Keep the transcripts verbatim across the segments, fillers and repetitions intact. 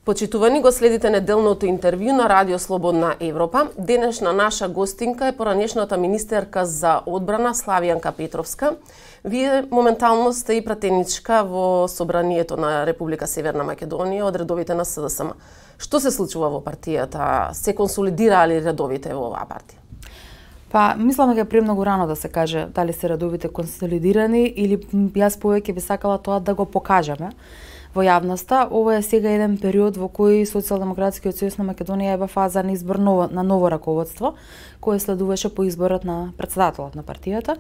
Почитувани, го следите неделното интервју на Радио Слободна Европа. Денешна наша гостинка е поранешната министерка за одбрана Славјанка Петровска. Вие моментално сте и пратеничка во собранието на Република Северна Македонија од редовите на СДСМ. Што се случува во партијата? Се консолидираа ли редовите во оваа партија? Па, мислам дека е премногу рано да се каже дали се редовите консолидирани или јас повеќе би сакала тоа да го покажеме во јавноста. Ова е сега еден период во кој Социјалдемократскиот сојуз на Македонија е во фаза на избор ново, на ново раководство, кое следуваше по изборот на председателот на партијата.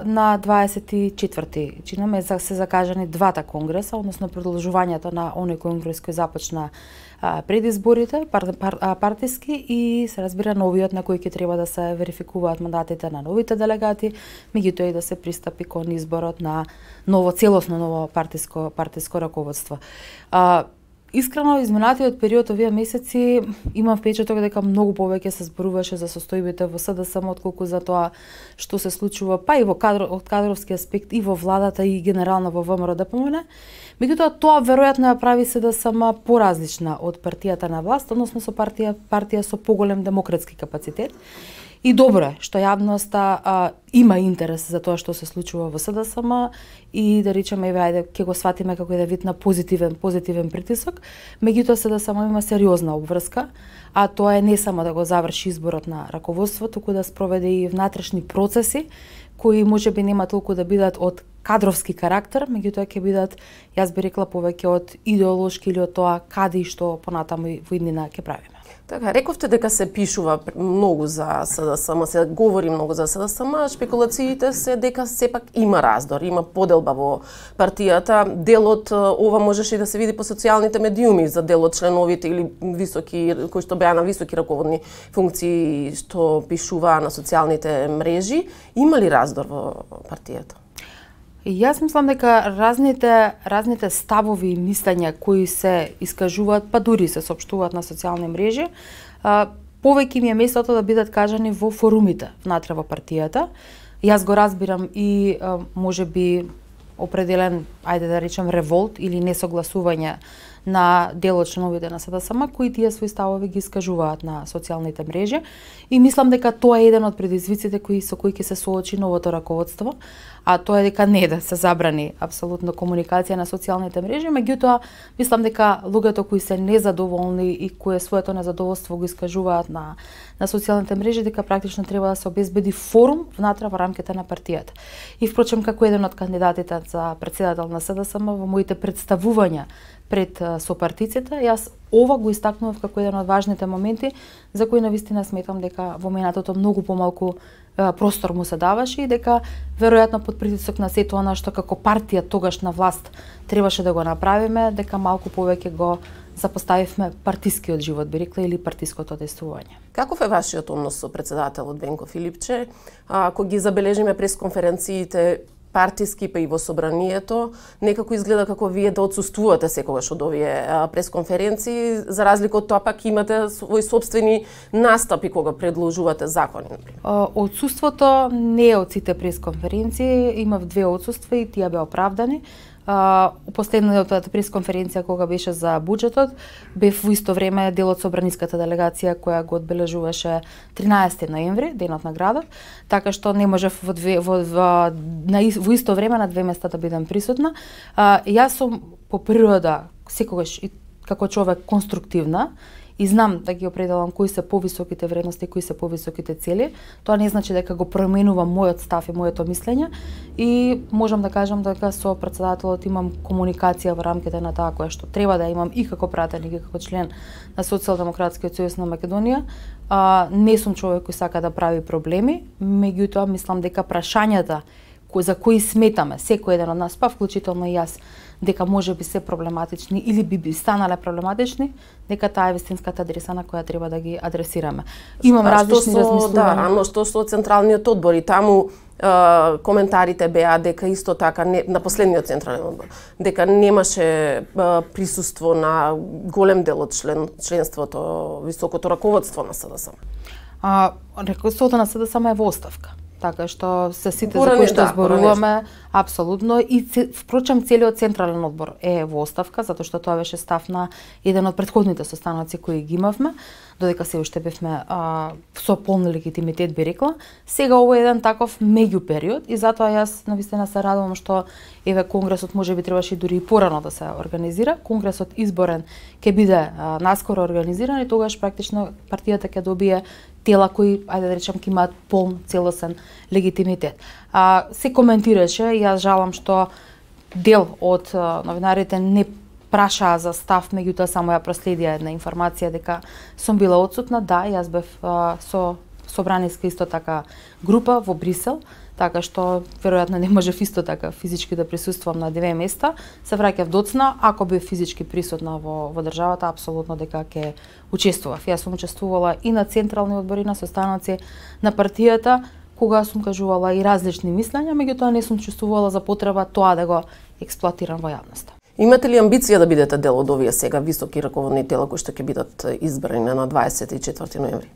На дваесет и четврти чинаме се закажани двата конгреса, односно продолжувањето на оној конгрес кој започна пред изборите, пар, пар, партиски, и се разбира новиот на кој ќе треба да се верификуваат мандатите на новите делегати, меѓутоа и да се пристапи кон изборот на ново целосно ново партиско партиско раководство. А, Искрено, изминатиот период овие месеци имам впечаток дека многу повеќе се зборуваше за состојбите во СДСМ отколку за тоа што се случува, па и во кадро, од кадровски аспект и во владата и генерално во ВМРО д П М Н. Меѓутоа тоа веројатно ја прави СДСМ поразлична од партијата на власт, односно со партија партија со поголем демократски капацитет. И добро е што јавноста а, има интерес за тоа што се случува во СДСМ и да речеме еве ајде ќе го сватиме како еден вид на позитивен позитивен притисок. Меѓутоа СДСМ има сериозна обврска, а тоа е не само да го заврши изборот на раководство, туку да спроведе и внатрешни процеси кои можеби нема толку да бидат од кадровски карактер, меѓутоа ќе бидат, јас би рекла, повеќе од идеолошки или од тоа каде и што понатаму во иднина ќе правиме. Така, рековте дека се пишува многу за СДСМ, се говори многу за СДСМ, шпекулациите се дека сепак има раздор, има поделба во партијата. Делот ова можеше и да се види по социјалните медиуми за делот членовите или високи кои што беа на високи раководни функции што пишуваа на социјалните мрежи. Има ли раздор во партијата? Јас мислам дека разните разните ставови и мислења кои се искажуваат, па дури се соопштуваат на социјални мрежи, повеќе ми е местото да бидат кажани во форумите внатре во партијата. Јас го разбирам и можеби определен, ајде да речем, револт или несогласување на дел од членовите на СДСМ кои тие своји ставови ги искажуваат на социјалните мрежи, и мислам дека тоа е еден од предизвиците кои со кои ќе се соочи новото раководство, а тоа е дека не да се забрани апсолутно комуникација на социјалните мрежи, меѓутоа мислам дека луѓето кои се незадоволни и кои своето незадоволство го искажуваат на на социјалните мрежи, дека практично треба да се обезбеди форум внатре во рамките на партијата. И впрочем, како еден од кандидатите за председател на СДСМ во моите представувања пред сопартиците, јас ова го истакнував како еден од важните моменти за кои навистина сметам дека во минатото многу помалку е, простор му се даваше и дека веројатно под притисок на сето она што како партија тогаш на власт требаше да го направиме, дека малку повеќе го запоставивме партискиот живот, би рекла, или партиското действување. Каков е вашиот однос со председателот Венко Филипче? Ако ги забележиме пресконференциите партиски, па и во собранието, некако изгледа како вие да отсуствувате секогаш од овие пресконференции, за разлика од тоа пак имате своји собствени настапи кога предложувате закони, например. Отсуството не е од сите пресконференции, имав две отсуства и тие беа оправдани. Uh, последната пресконференција кога беше за буџетот, бев во исто време дел од собраниската делегација која го одбележуваше тринаесети ноември, денот на градот, така што не можев во, две, во, во, на, во исто време на две места да бидам присутна. Uh, јас сум по природа секогаш и како човек конструктивна и знам да ги определам кои се повисоките вредности, кои се повисоките цели. Тоа не значи дека го променувам мојот став и моето мислење, и можам да кажам дека со председателот имам комуникација во рамките на таа која што треба да имам и како пратеник и како член на Социјалдемократскиот сојуз на Македонија. А, не сум човек кој сака да прави проблеми, меѓутоа мислам дека прашањата кои за кои сметаме секој еден од нас, па вклучително и јас, дека може би се проблематични или би би станале проблематични, дека таа е вистинската адреса на која треба да ги адресираме. Имам а, различни размислувања. Да, рано што со централниот одбор и таму е, коментарите беа дека исто така не, на последниот централен одбор, дека немаше е, присуство на голем дел од член, членството, високото раководство на СДСМ. А, раководството на СДСМ е во оставка. Така што се сите Порани, за кои што да, зборуваме, апсолутно, и впрочем целиот централен одбор е во оставка, затоа што тоа беше став на еден од претходните состаноци кои ги имавме, додека се уште бевме а, со полн легитимитет, би рекла. Сега ово е еден таков меѓу период и затоа јас навистина се радувам што еве конгресот можеби требаше дури и порано да се организира. Конгресот изборен ќе биде а, наскоро организиран и тогаш практично партијата ќе добие тела кои, ајде да речам, ќе имаат полн целосен легитимитет. А, се коментираше, јас жалам што дел од а, новинарите не прашаа за став, меѓутоа само ја проследија една информација дека сум била отсутна. Да, јас бев а, со собраниска исто така група во Брисел, така што веројатно не можев исто така физички да присуствувам на две места. Се враќав доцна, ако бев физички присутна во, во државата, апсолутно дека ќе учествував. Јас сум учествувала и на централни одбори, на состаноци на партијата, кога сум кажувала и различни мислења, меѓутоа не сум чувствувала за потреба тоа да го експлоатирам во јавноста. Имате ли амбиција да бидете дел од овие сега високи раководни тела кои што ќе бидат избрани на дваесет и четврти ноември?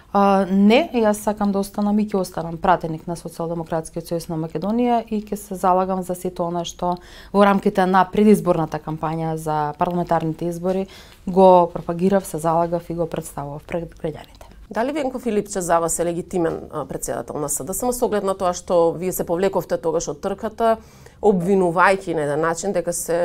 Uh, не, јас сакам да останам и ќе останам пратеник на Социјалдемократскиот сојуз на Македонија и ќе се залагам за сето она што во рамките на предизборната кампања за парламентарните избори го пропагирав, се залагав и го представував пред граѓаните. Дали Венко Филипче за вас е легитимен председател на СДСМ со оглед на тоа што вие се повлековте тогаш од трката, обвинувајќи на еден начин дека се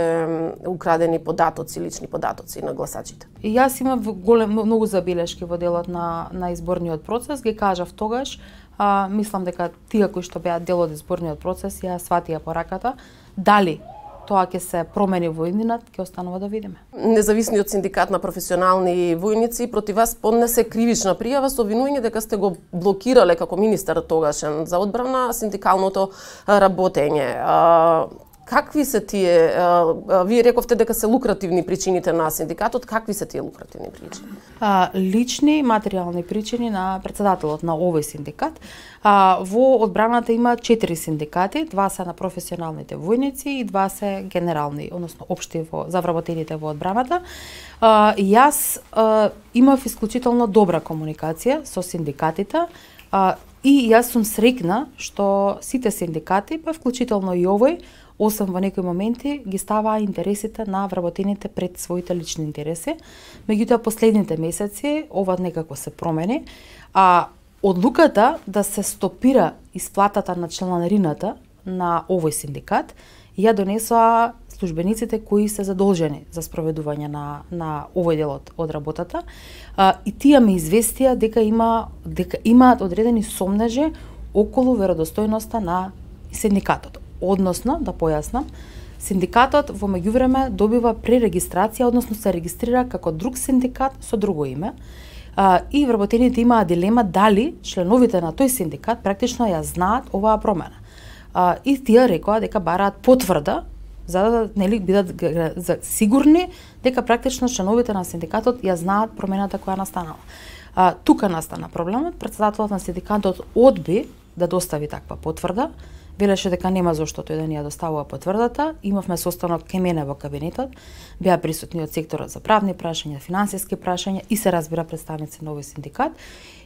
украдени податоци, лични податоци на гласачите? И јас имам голем многу забелешки во делот на на изборниот процес, ги кажав тогаш, а, мислам дека тие кои што беа дел од изборниот процес ја сватија пораката, дали тоа ќе се промени во иднинат, ќе останува да видиме. Независниот синдикат на професионални војници против вас поднесе кривична пријава со обвинување дека сте го блокирале како министер тогашен за одбрана синдикалното работење. Какви се тие, вие рековте дека се лукративни причините на синдикатот, какви се тие лукративни причини? А, лични, материјални причини на председателот на овој синдикат. А, во одбраната има четири синдикати, два се на професионалните војници и два се генерални, односно општи во, за вработените во одбраната. А, јас а, имав исклучително добра комуникација со синдикатите а, и јас сум среќна што сите синдикати, па вклучително и овој, осам во некои моменти ги ставаа интересите на вработените пред своите лични интереси. Меѓутоа последните месеци ова некако се промени, а одлуката да се стопира исплатата на чланарината на овој синдикат ја донесоа службениците кои се задолжени за спроведување на на овој дел од, од работата. А, и тие ме известија дека има дека имаат одредени сомнежи околу веродостојноста на синдикатот. Односно, да појаснам, синдикатот во меѓувреме добива пререгистрација, односно се регистрира како друг синдикат со друго име. А, и вработените имаа дилема дали членовите на тој синдикат практично ја знаат оваа промена. А, и тие рекоа дека бараат потврда за да нели бидат за сигурни дека практично членовите на синдикатот ја знаат промената која настанала. А, тука настана проблемот, председателот на синдикатот одби да достави таква потврда. Велеше дека нема зошто тој да ни ја доставува потврдата. Имавме состанок кај мене во кабинетот, беа присутни од секторот за правни прашања, финансиски прашања и се разбира представници на овој синдикат.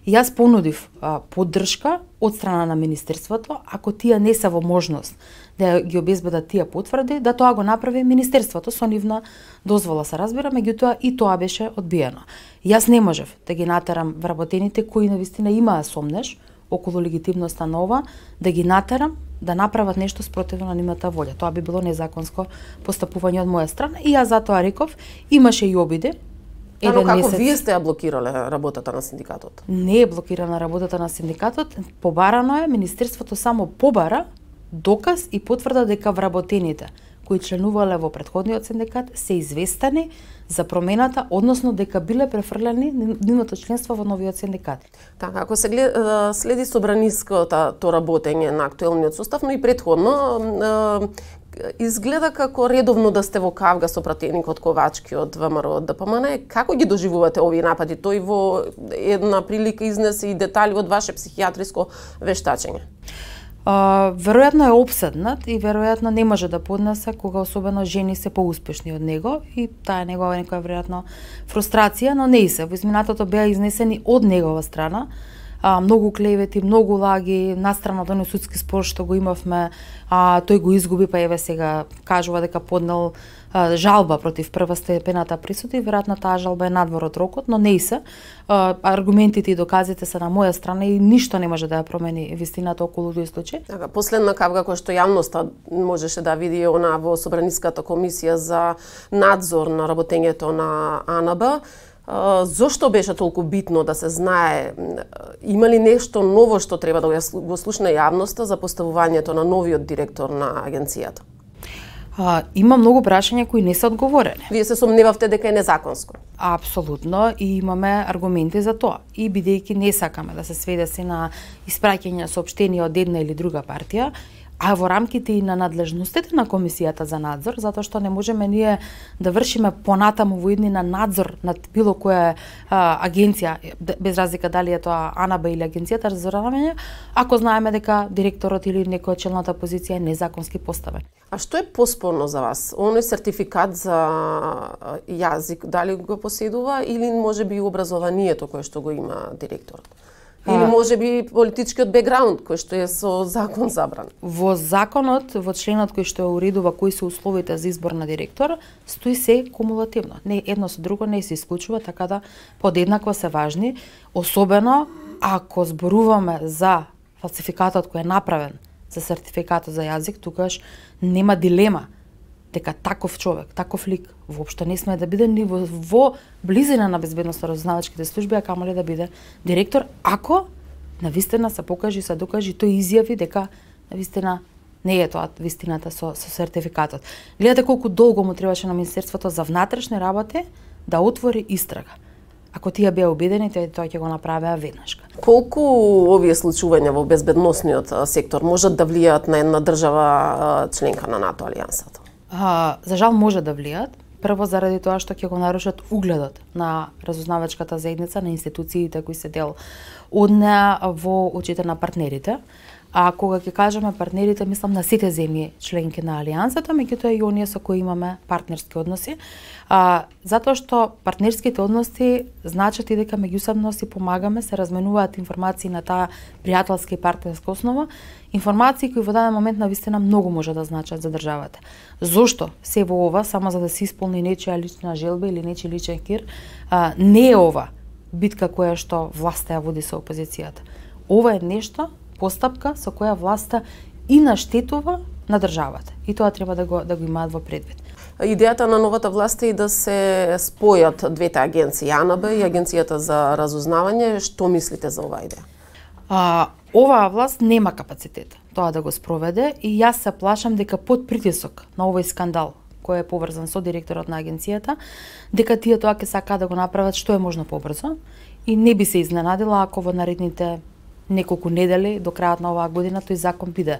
И јас понудив а, поддршка од страна на министерството, ако тие не се во можност да ги обезбедат тие потврди, да тоа го направи министерството со нивна дозвола, се разбира, меѓутоа и тоа беше одбиено. Јас не можев да ги натерам вработените кои навистина имаа сомнеж околу легитимноста на ова, да ги натерам да направат нешто спротивно на нивната волја. Тоа би било незаконско постапување од моја страна и јас затоа реков, имаше и обиди. Еден како месец. Вие сте ја блокирале работата на синдикатот? Не е блокирана работата на синдикатот, побарано е, министерството само побара доказ и потврда дека вработените кои членувале во претходниот синдикат се известени за промената, односно дека биле префрлени нивното членство во новиот синдикат. Така, ако се глед, следи собраниското то работење на актуелниот состав, но и претходно, изгледа како редовно да сте во кавга со пратеникот Ковачки од ВМРО од ДПМН. Како ги доживувате овие напади? Тој во една прилика изнесе и детали од ваше психијатриско вештачење. Uh, веројатно е опседнат и веројатно не може да поднесе кога особено жени се поуспешни од него и таа е негова некоја веројатно фрустрација, но не и се. Во изминатото беа изнесени од негова страна а, многу клевети, многу лаги, настрана од оној судски спор што го имавме, а тој го изгуби, па еве сега кажува дека поднел а, жалба против првостепената присуда и веројатно таа жалба е надвор од рокот, но не и се. А, аргументите и доказите се на моја страна и ништо не може да ја промени вистината околу тој случај. Така, последна капка која што јавноста можеше да види она во Собраниската комисија за надзор на работењето на А Н Б. Зошто беше толку битно да се знае, има ли нешто ново што треба да го слушне јавноста за поставувањето на новиот директор на агенцијата? А, има многу прашања кои не се одговорени. Вие се сомневавте дека е незаконско? Апсолутно, и имаме аргументи за тоа. И бидејќи не сакаме да се сведе се на испраќање соопштенија од една или друга партија, а во рамките и на надлежностите на Комисијата за надзор, затоа што не можеме ние да вршиме понатаму во иднина надзор над било која а, агенција, без разлика дали е тоа А Н Б или Агенцијата за разузнавање, ако знаеме дека директорот или некоја челната позиција е незаконски поставен. А што е поспорно за вас? Оној сертификат за јазик, дали го поседува или можеби образованието кое што го има директорот? Или можеби политичкиот бекграунд кој што е со закон забран? Во законот, во членот кој што уредува кои се условите за избор на директор, стои се кумулативно. Не едно со друго не се исклучува, така да подеднакво се важни, особено ако зборуваме за фалсификатот кој е направен за сертификатот за јазик, тогаш нема дилема дека таков човек, таков лик воопшто не сме да биде ни во, во близина на безбедноста разузнавачките служби, а камале да биде директор, ако навистина се покажи, се докажи, тој изјави дека навистина не е тоа вистината со, со сертификатот. Гледате колку долго му требаше на Министерството за внатрешни работи да отвори истрага. Ако тие беа убедени, тоа тоа ќе го направеа веднашка. Колку овие случувања во безбедносниот сектор можат да влијаат на една држава членка на НАТО алијансата? А, за жал може да влијаат. Прво заради тоа што ќе го нарушат угледот на разузнавачката заедница, на институциите кои се дел од неа во очите на партнерите. А кога ќе кажеме партнерите, мислам на сите земји членки на алијансата, меѓутоа и оние со кои имаме партнерски односи. А, затоа што партнерските односи значат и дека меѓусебно си помагаме, се разменуваат информации на таа пријателска и партнерска основа, информации кои во даден момент навистина многу може да значат за државата. Зошто се во ова само за да се исполни нечија лична желба или нечи личен кир? А, не е ова битка која што власта ја води со опозицијата. Ова е нешто, постапка со која власта и наштетува на државата. И тоа треба да го да го имаат во предвид. Идејата на новата власт е да се спојат двете агенции, А Н Б и Агенцијата за разузнавање. Што мислите за оваа идеја? А, оваа власт нема капацитет тоа да го спроведе и јас се плашам дека под притисок на овој скандал кој е поврзан со директорот на агенцијата, дека тие тоа ќе сакаат да го направат што е можно побрзо и не би се изненадила ако во наредните неколку недели до крајот на оваа година тој закон биде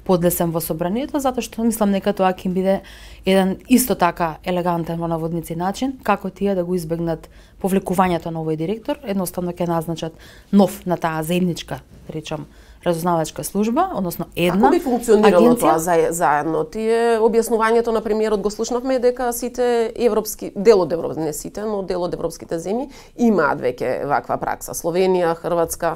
подлесен во собранието, затоа што мислам дека тоа ќе биде еден исто така елегантен во наводници начин како тие да го избегнат повлекувањето на овој директор, едноставно ќе назначат нов на таа заедничка, речам, разузнавачка служба, односно една агенција. Како би функционирало агенција? тоа заедно? Тие објаснувањето на премиерот го слушнавме дека сите европски, дел од Европа, не сите, но дел од европските земји имаат веќе ваква пракса. Словенија, Хрватска.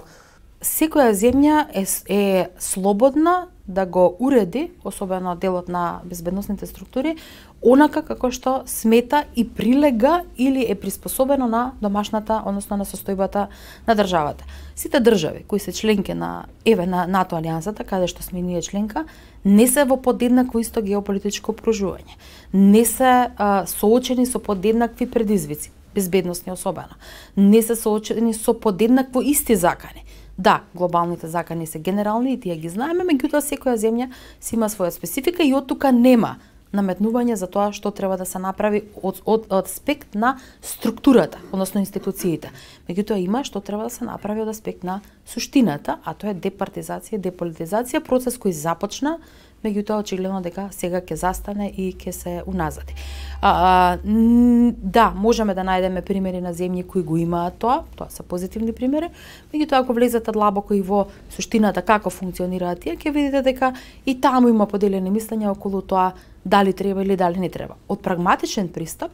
Секоја земја е, е слободна да го уреди, особено делот на безбедносните структури, онака како што смета и прилега или е приспособено на домашната, односно на состојбата на државата. Сите држави кои се членки на еве на НАТО алијансата, каде што сме ние членка, не се во подеднакво исто геополитичко окружување. Не се а, соочени со подеднакви предизвици, безбедносни особено. Не се соочени со подеднакво исти закани. Да, глобалните закани се генерални и тие ги знаеме, меѓутоа секоја земја си има своја специфика и од тука нема наметнување за тоа што треба да се направи од, од, од аспект на структурата, односно институциите. Меѓутоа има што треба да се направи од аспект на суштината, а тоа е департизација, деполитизација, процес кој започна, меѓутоа очигледно дека сега ќе застане и ќе се уназади. А, а, да, можеме да најдеме примери на земји кои го имаат тоа, тоа се позитивни примери, меѓутоа ако влезете длабоко и во суштината како функционираат тие, ќе видите дека и таму има поделени мислења околу тоа дали треба или дали не треба. Од прагматичен пристап,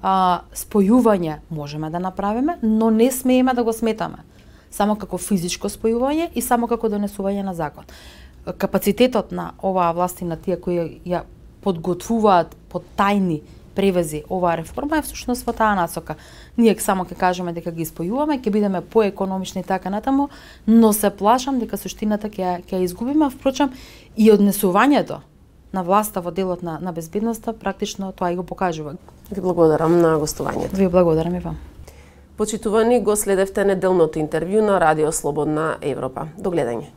а, спојување можеме да направиме, но не смееме да го сметаме само како физичко спојување и само како донесување на закон. Капацитетот на оваа власт и на тие кои ја подготвуваат под тајни превези оваа реформа е всушност во таа насока. Ние само ќе кажеме дека ги спојуваме, ќе бидеме поекономични и така натаму, но се плашам дека суштината ќе ќе изгубиме, впрочем и однесувањето на власта во делот на на безбедноста практично тоа и го покажува. Ви благодарам на гостувањето. Ви благодарам и вам. Почитувани, го следевте неделното интервју на Радио Слободна Европа. До гледање.